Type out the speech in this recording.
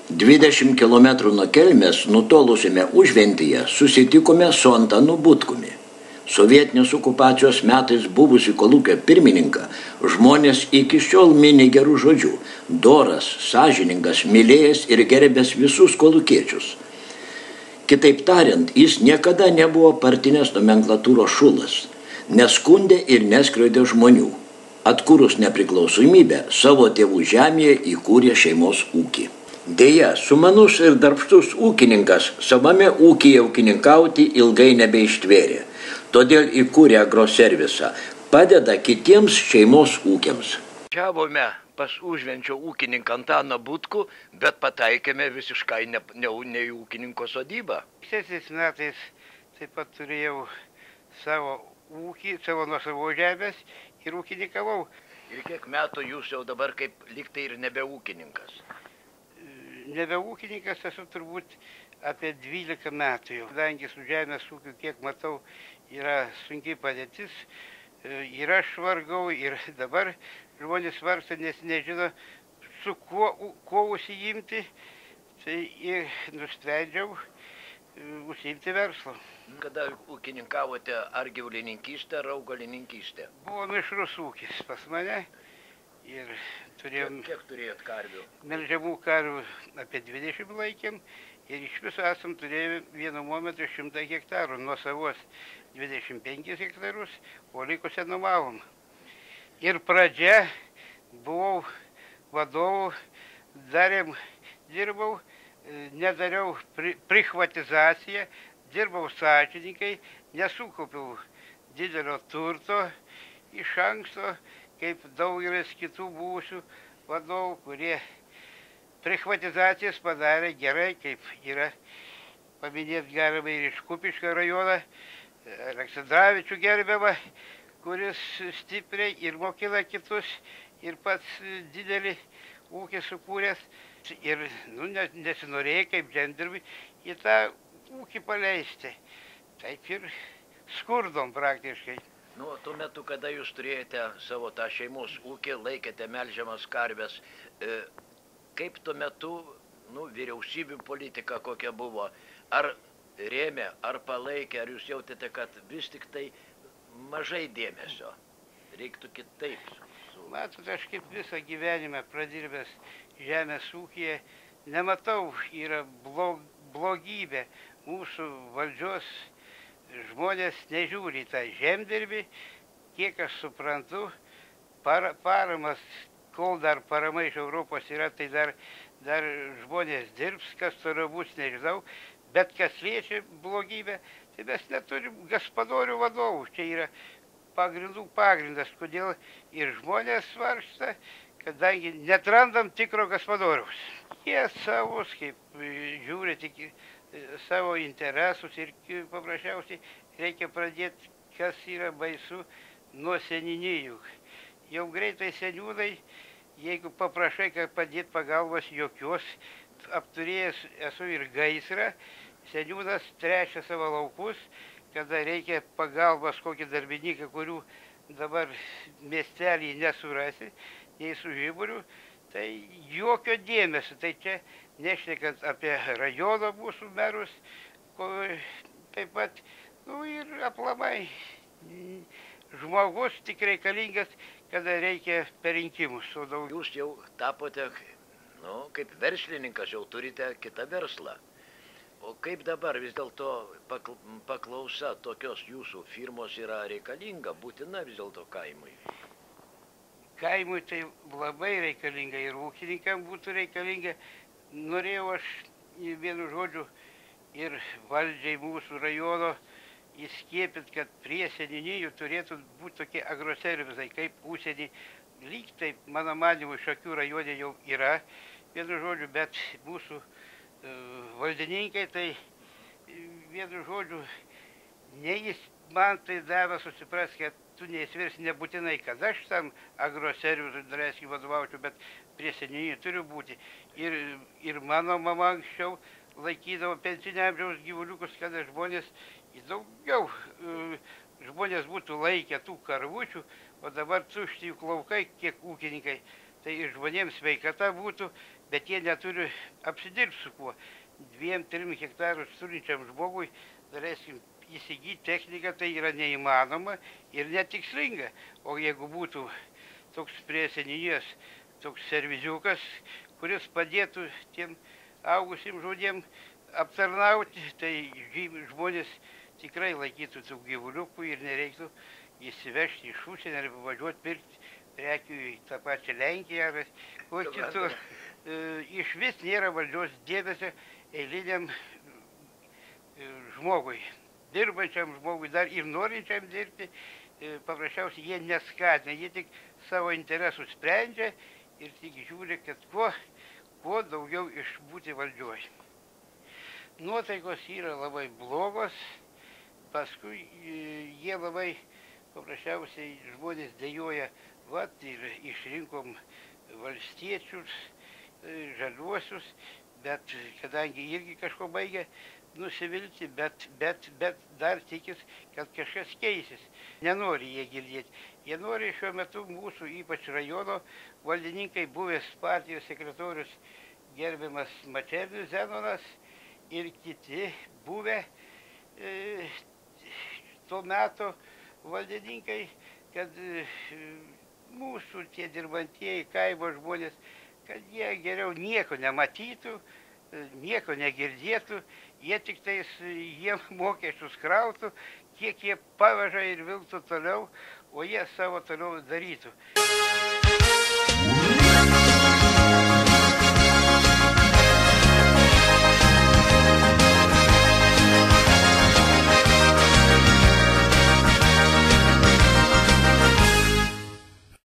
20 km nuo Kelmės nutolusime Užventyje susitikome su Antanu Butkumi. Sovietinės okupacijos metais buvusi kolūkio pirmininką žmonės iki šiol mini gerų žodžių, doras, sąžiningas, mylėjęs ir gerbęs visus kolūkiečius. Kitaip tariant, jis niekada nebuvo partinės nomenklatūros šulas, neskundė ir neskriaudė žmonių. Atkūrus nepriklausomybę, savo tėvų žemėje įkūrė šeimos ūkį. Deja, sumanus ir darbštus ūkininkas savame ūkyje ūkininkauti ilgai nebeištvėrė. Todėl įkūrė agroservisą, padeda kitiems šeimos ūkiams. Važiavome pas Užvenčio ūkininką Antaną Butkų, bet pataikėme visiškai ne į ūkininko sodybą. Šiais metais taip pat turėjau savo ūkį, savo nuosavo žemės ir ūkininkavau. Ir kiek metų jūs jau dabar kaip liktai ir nebe ūkininkas? Nebe ūkininkas esu turbūt apie 12 metų jau. Kadangi su žemės ūkiu, kiek matau, yra sunkiai padėtis, ir aš vargau, ir dabar žmonės vargsta, nes nežino, su kuo užsiimti, tai ir nusprendžiau užsiimti verslo. Kada ūkininkavote, ar gyvulininkystė, ar augalininkystė? Buvo mišrus ūkis pas mane ir turėjom... Kiek turėjot karvių? Melžiamų karvių apie 20 laikėm ir iš viso esam turėję vienu momentu 100 hektarų, nuo savos 25 hektarus, o likusią nuomavom. Ir pradžia buvau vadovu, dirbau, nedariau prichvatizaciją, dirbau sąžiningai, nesukaupiau didelio turto iš anksto, kaip daugelis kitų buvusių vadovų, kurie prichvatizacijas padarė gerai, kaip yra paminėti galima ir iš Kupiškio rajoną, Aleksandravičių gerbiamą, kuris stipriai ir mokina kitus, ir pats didelį ūkį sukūręs. Ir nesinorėjo kaip žemdirbiui į tą ūkį paleisti. Taip ir skurdom praktiškai. Tuo metu, kada jūs turėjote savo tą šeimos ūkį, laikėte melžiamas karves, kaip tuo metu vyriausybių politika kokia buvo? Ar rėmė, ar palaikė, ar jūs jautėte, kad vis tik tai mažai dėmesio? Reiktų kitaip. Matot, aš kaip visą gyvenimą pradirbęs žemės ūkyje, nematau, yra blogybė. Mūsų valdžios žmonės nežiūri tą žemdirbį, kiek aš suprantu, paramas, kol dar parama iš Europos yra, tai dar žmonės dirbs, kas toliau bus, nežinau, bet kas liečia blogybę, tai mes neturim gaspadorių vadovų, čia yra pagrindas, kodėl ir žmonės svarsta, kadangi netrandam tikro gaspadoriaus. Jie savus, kaip žiūri tik savo interesus ir paprasčiausiai reikia pradėti, kas yra baisu, nuo seniūnijų. Jau greitai seniūnai, jeigu paprašai, kad padėti pagalbos jokios, apturėjęs esu ir gaisrą, seniūnas trečia savo laukus, kada reikia pagalbos kokį darbininką, kurių dabar miestelį nesurasi, nei su žiburiu, tai jokio dėmesio. Tai čia nešnekant apie rajono mūsų merus, taip pat, ir aplamai žmogus tik reikalingas, kada reikia per rinkimus. Jūs jau tapote, kaip verslininkas, jau turite kitą verslą. O kaip dabar vis dėlto paklausa tokios jūsų firmos yra reikalinga, būtina vis dėlto kaimui? Kaimui tai labai reikalinga ir ūkininkam būtų reikalinga. Norėjau aš vienu žodžiu ir valdžiai mūsų rajono įskiepint, kad prie seniūnijų turėtų būti tokie agroservisai, kaip užsienį. Lyg taip, mano manymu, Šakių rajone jau yra, vienu žodžiu, bet mūsų valdininkai tai vienu žodžiu, ne jis man tai davė susipras, kad tu neįsiversi nebūtinai, kad aš tam agroservisui daleiskai vadovaučiau, bet prie seniūnijų turiu būti. Ir mano mama anksčiau laikydavo pensinio amžiaus gyvuliukus, kada žmonės daugiau žmonės būtų laikę tų karvučių, o dabar tušti jų laukai, kiek ūkininkai tai ir žmonėms sveikata būtų, bet jie neturi apsidirbti su kuo. 2-3 hektarus turinčiam žmogui, daleiskim, įsigyti techniką, tai yra neįmanoma ir netikslinga. O jeigu būtų toks prie seniūnijos, toks serviziukas, kuris padėtų tiem augusim žmonėm aptarnauti, tai žmonės tikrai laikytų tų gyvuliukų ir nereiktų įsivežti iš užsienio ar važiuoti pirkti prekių į tą pačią Lenkiją ar ko kitur. Iš vis nėra valdžios dėmesio eiliniam žmogui, dirbančiam žmogui, dar ir norinčiam dirbti, paprasčiausiai jie neskatina, jie tik savo interesų sprendžia ir tik žiūri, kad kuo daugiau išbūti valdžioj. Nuotaikos yra labai blogos, paskui jie labai paprasčiausiai žmonės dejuoja, vat ir išrinkom valstiečius, žaliuosius, bet kadangi irgi kažko baigia nusivilti, bet dar tikis, kad kažkas keisis. Nenori jie girdėti. Jie nori šiuo metu mūsų, ypač rajono valdininkai, buvęs partijos sekretorius gerbiamas Mačernis Zenonas ir kiti buvę to meto valdininkai, kad mūsų tie dirbantieji kaimo žmonės, kad jie geriau nieko nematytų, nieko negirdėtų, jie tik tais jiem mokesčius krautų, kiek jie paveža ir vilktų toliau, o jie savo toliau darytų.